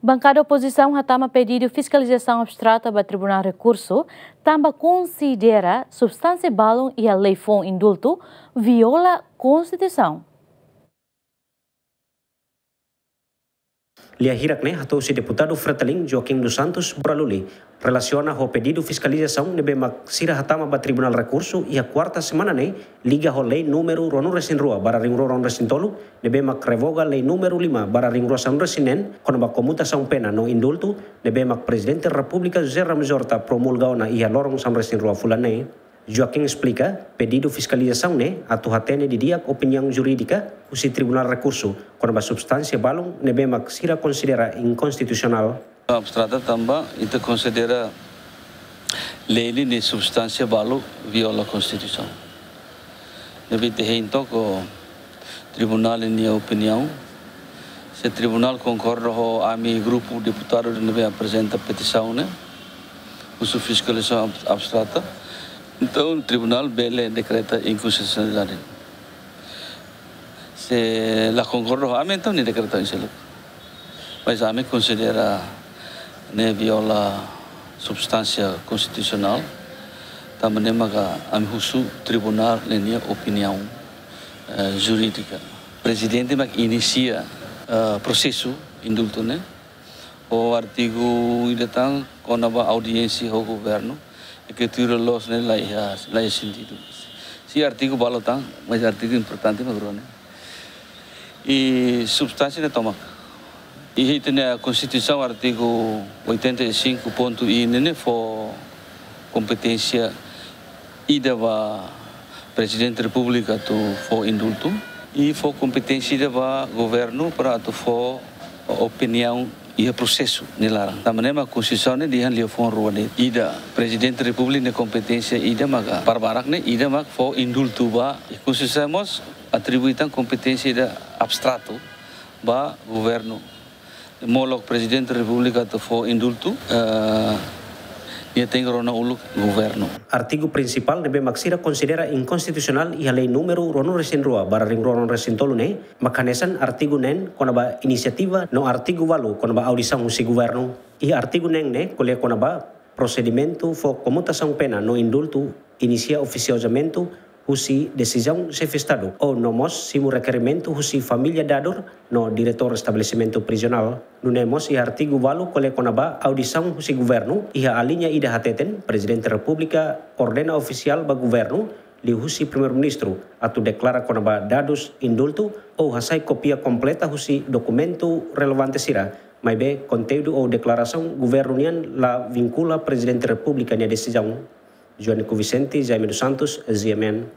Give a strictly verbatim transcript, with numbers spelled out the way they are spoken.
Bankada opozisaun hatama pedidu fiskalizasaun abstrata ba Tribunál Rekursu, tanba konsidera substánsia balun iha lei foun indultu viola Konstituisaun. Lia hirak ne'e hato'o husi deputadu Fretilin Joaquim dos Santos Boraluli, relasiona ho pedidu fiskalizasaun ne'ebé mak sira hatama ba Tribunál Rekursu iha kuarta semana ne'e, liga ho lei númeru ruanulu-resin-rua barra ringrua ruanulu-resin-tolu, ne'ebé mak revoga lei númeru lima barra ringrua sanulu-resin-neen, kona-ba komutasaun pena no indultu, ne'ebé mak Prezidente Repúblika José Ramos Horta promulga ona iha loron sanulu-resin-rua fulan ne'e. Joaquim esplika, pedidu fiskalizasaun ne'e atu hatene didi'ak opiniaun jurídika husi Tribunál Rekursu kona-ba substánsia balun ne'ebé mak sira konsidera inkonstitusionál. Abstrata tanba ita konsidera lei ne'e nia substánsia balu viola Konstituisaun. Ne'ebé ita hein to'ok Tribunál nia opiniaun. Se Tribunál konkorda ho ami grupu deputadu ne'ebé aprezenta petisaun ne'e, husu fiskalizasaun ab-, abstrata, entaun Tribunál bele dekreta inkonstitusionalidade. Se la konkorda ho ami, entaun nia dekreta oin seluk. Mas ami konsidera ne'e viola substánsia konstitusionál, tanba ne'e maka ami husu Tribunál nia opiniaun, eh, jurídika. Prezidente mak inisia, eh, prosesu indultu ne'e, ho artigu ida tan kona-ba audiénsia ho governu, e ke tuir loos ne'e la iha, la iha sentidu. Sei artigu balu tan, mas artigu importante mak rua ne'e. I substánsia ne'e tomak. I ita-nia Konstituisaun artigu oitenta e cinco ponto I ne'e, ne'e fó kompeténsia ida ba Prezidente Repúblika atu fó indultu, i fó kompeténsia ida ba governu para atu fó opiniaun iha prosesu nia laran. Tanba ne'e mak Konstituisaun ne'e dehan liafuan rua de'it. Ida, Prezidente Repúblika nia kompeténsia ida maka para barak ne'e, ida mak fó indultu ba, i Konstituisaun mós atribui tan kompeténsia ida abstratu ba governu. Molok Prezidente Repúblika atu fó indultu, eh, nia tenke rona uluk governu. Artigu prinsipál ne'ebé mak sira konsidera inkonstitusionál iha lei númeru ruanulu-resin-rua barra ringrua ruanulu-resin-tolu ne'e, mak hanesan artigu neen kona-ba inisiativa no artigu ualu kona-ba audisaun husi governu. Iha artigu neen ne'e ko'alia kona-ba prosedimentu fó komutasaun pena no indultu inisia ofisiozamenti husi desizaun Xefe Estadu, ou no mós simu rekerimentu husi família dadur no diretór estabelesimentu prizionál. Nune'e mós iha artigu ualu ko'alia kona-ba audisaun husi governu, iha aliña ida hateten, Prezidente Repúblika ordena ofisiál ba governu, liuhusi Primeiru-Ministru, atu deklara kona-ba dadus indultu ou hasai kópia kompleta husi dokumentu relevante sira, maibé konteúdu ou deklarasaun governu nian la vinkula Prezidente Repúblika nia desizaun. Joanico Vicente, Jaime dos Santos, G M N.